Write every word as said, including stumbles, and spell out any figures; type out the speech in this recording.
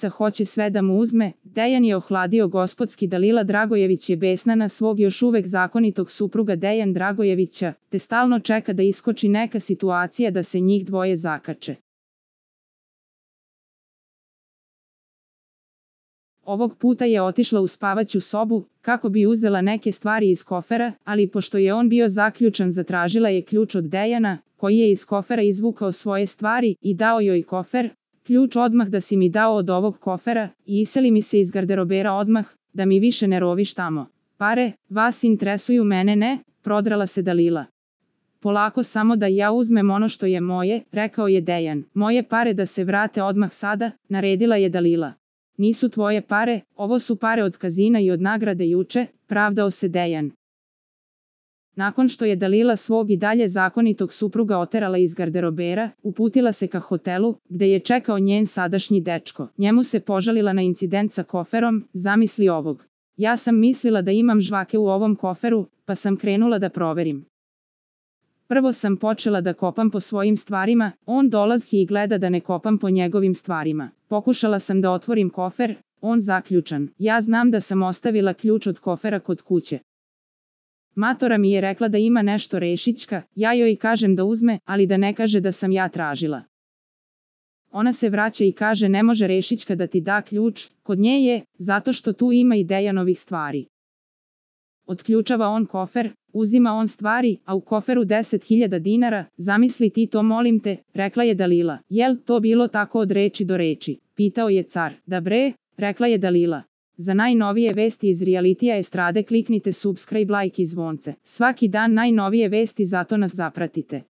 hoće sve da mu uzme, Dejan je ohladio gospodski. Dalila Dragojević je besna na svog još uvek zakonitog supruga Dejan Dragojevića, te stalno čeka da iskoči neka situacija da se njih dvoje zakače. Ovog puta je otišla u spavaću sobu, kako bi uzela neke stvari iz kofera, ali pošto je on bio zaključan zatražila je ključ od Dejana, koji je iz kofera izvukao svoje stvari i dao joj kofer. Ključ odmah da si mi dao od ovog kofera i iseli mi se iz garderobera odmah, da mi više ne roviš tamo. Pare, vas interesuju, mene ne, prodrala se Dalila. Polako, samo da ja uzmem ono što je moje, rekao je Dejan. Moje pare da se vrate odmah sada, naredila je Dalila. Nisu tvoje pare, ovo su pare od kazina i od nagrade juče, pravdao se Dejan. Nakon što je Dalila svog i dalje zakonitog supruga oterala iz garderobera, uputila se ka hotelu, gde je čekao njen sadašnji dečko. Njemu se požalila na incident sa koferom, zamisli ovog. Ja sam mislila da imam žvake u ovom koferu, pa sam krenula da proverim. Prvo sam počela da kopam po svojim stvarima, on dolazi i gleda da ne kopam po njegovim stvarima. Pokušala sam da otvorim kofer, on zaključan. Ja znam da sam ostavila ključ od kofera kod kuće. Matora mi je rekla da ima nešto rešićka, ja joj kažem da uzme, ali da ne kaže da sam ja tražila. Ona se vraća i kaže ne može rešićka da ti da ključ, kod nje je, zato što tu ima i Dejanovih stvari. Otključava on kofer, uzima on stvari, a u koferu deset hiljada dinara, zamisli ti to, molim te, rekla je Dalila. Jel to bilo tako od reči do reči? Pitao je car. Da bre, rekla je Dalila. Za najnovije vesti iz realitija estrade kliknite subscribe, like i zvonce. Svaki dan najnovije vesti, zato nas zapratite.